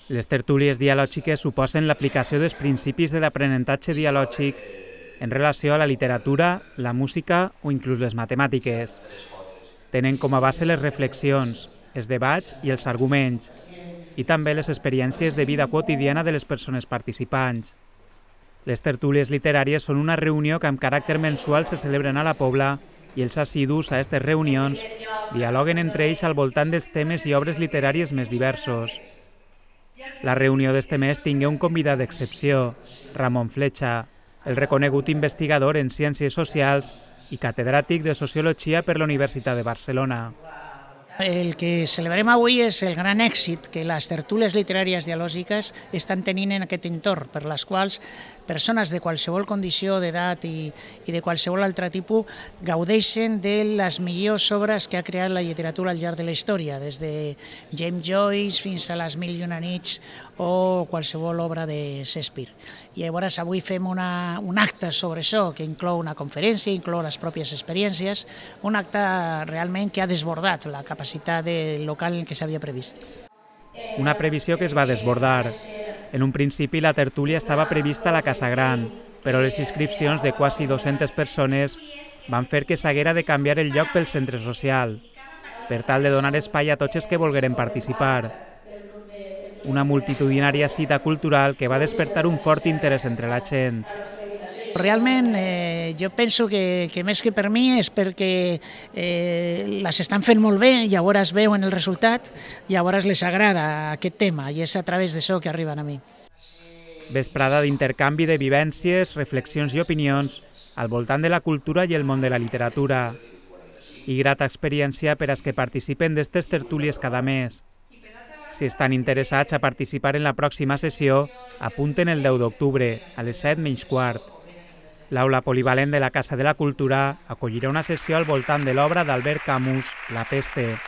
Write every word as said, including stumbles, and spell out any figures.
Les tertúlies dialògiques suposen l'aplicació dels principis de l'aprenentatge dialògic en relació a la literatura, la música o inclús les matemàtiques. Tenen com a base les reflexions, els debats i els arguments, i també les experiències de vida quotidiana de les persones participants. Les tertúlies literàries són una reunió que amb caràcter mensual se celebren a la Pobla i els assidus a aquestes reunions dialoguen entre ells al voltant dels temes i obres literàries més diversos. La reunió d'este mes tingué un convidat d'excepció, Ramon Fletxa, el reconegut investigador en Ciències Socials i catedràtic de Sociologia per la Universitat de Barcelona. El que celebrem avui és el gran èxit que les tertúlies literàries dialògiques estan tenint en aquest entorn, per les quals persones de qualsevol condició d'edat i, i de qualsevol altre tipus gaudeixen de les millors obres que ha creat la literatura al llarg de la història, des de James Joyce fins a les Mil i una nits o qualsevol obra de Shakespeare. I llavors avui fem una, un acte sobre això, que inclou una conferència, inclou les pròpies experiències, un acte realment que ha desbordat la capacitat del local en què s'havia previst. Una previsió que es va desbordar. En un principi la tertúlia estava prevista a la Casa Gran, però les inscripcions de quasi dues-centes persones van fer que s'haguera de canviar el lloc pel centre social, per tal de donar espai a tots els que volgueren participar. Una multitudinària cita cultural que va despertar un fort interès entre la gent. Realment eh, jo penso que, que més que per mi és perquè eh, les estan fent molt bé, llavors veuen el resultat, llavors les agrada aquest tema i és a través d'això que arriben a mi. Vesprada d'intercanvi de vivències, reflexions i opinions al voltant de la cultura i el món de la literatura. I grata experiència per als que participen d'estes tertúlies cada mes. Si estan interessats a participar en la pròxima sessió, apunten el deu d'octubre, a les set menys quart. L'aula polivalent de la Casa de la Cultura acollirà una sessió al voltant de l'obra d'Albert Camus, La peste.